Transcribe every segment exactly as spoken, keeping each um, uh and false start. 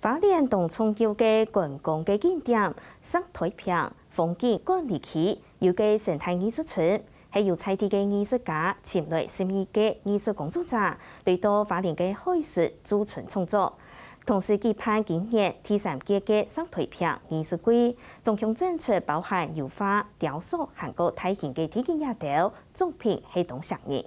花蓮當重要个觀光个景點，石台坪風景管理區有个生態藝術村，係由在地个藝術家尋來十二个藝術工作者，來到花蓮个海脣駐村創作。同時舉辦今年第三屆个石台坪藝術季，總共展出包含油畫、雕塑，還過大型个地景野鳥，作品係當吸引。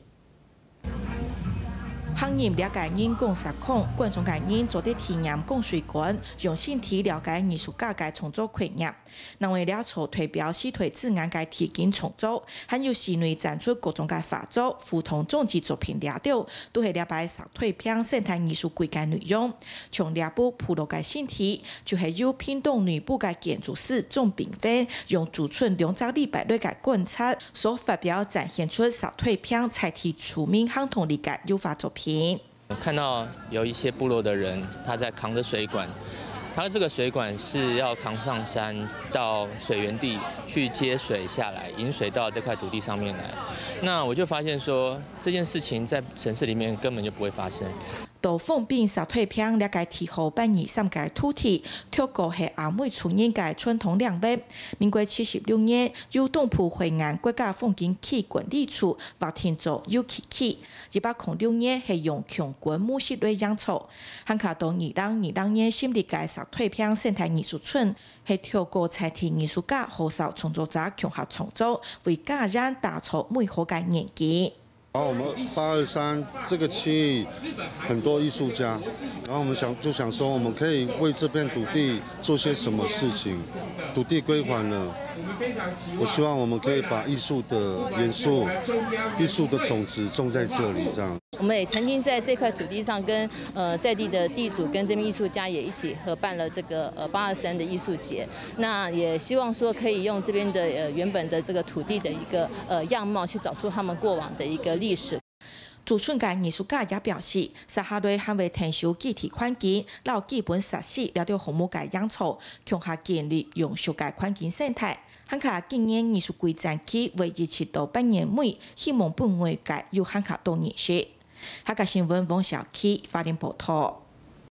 行入這个人工石孔，觀賞个人做得體驗槓水管，用身體了解藝術家个創作概念。另外，這座代表四台自然个地景創作，還有室內展出各種个畫作、互動裝置作品這兜，都係這擺石台坪生態藝術季个內容。像這部部落个身體，就係由屏東內埔个建築師鍾炳芬用駐村兩隻禮拜內个觀察， 所發表展現出石台坪在地住民行動力个油畫作品。看到有一些部落的人，他在扛着水管，他这个水管是要扛上山到水源地去接水下来，引水到这块土地上面来。那我就发现说，这件事情在城市里面根本就不会发生。 到豐濱石台坪這个地號八二三个土地，頭過係阿美族人个傳統領域。民國七十六年，由東部海岸國家風景區管理處劃定做遊憩區。一百空六年係用強管模式來營造。還較到二零二零年成立个石台坪生態藝術村，係透過在地藝術家、學校創作者共下創作，為家園打造美好个願景。 然后我们八二三这个区域很多艺术家，然后我们想就想说，我们可以为这片土地做些什么事情。土地归还了，我希望我们可以把艺术的元素、艺术的种子种在这里，这样。我们也曾经在这块土地上跟呃在地的地主跟这边艺术家也一起合办了这个呃八二三的艺术节。那也希望说可以用这边的呃原本的这个土地的一个呃样貌去找出他们过往的一个历史。 駐村个藝術家也表示，接下來還會𢯭手基地環境摎基本設施這兜項目个營造，共下建立永續个環境生態。還過今年藝術季展期會一直到八月尾，希望分外界有還較多認識。客家新聞王小琪花蓮報導。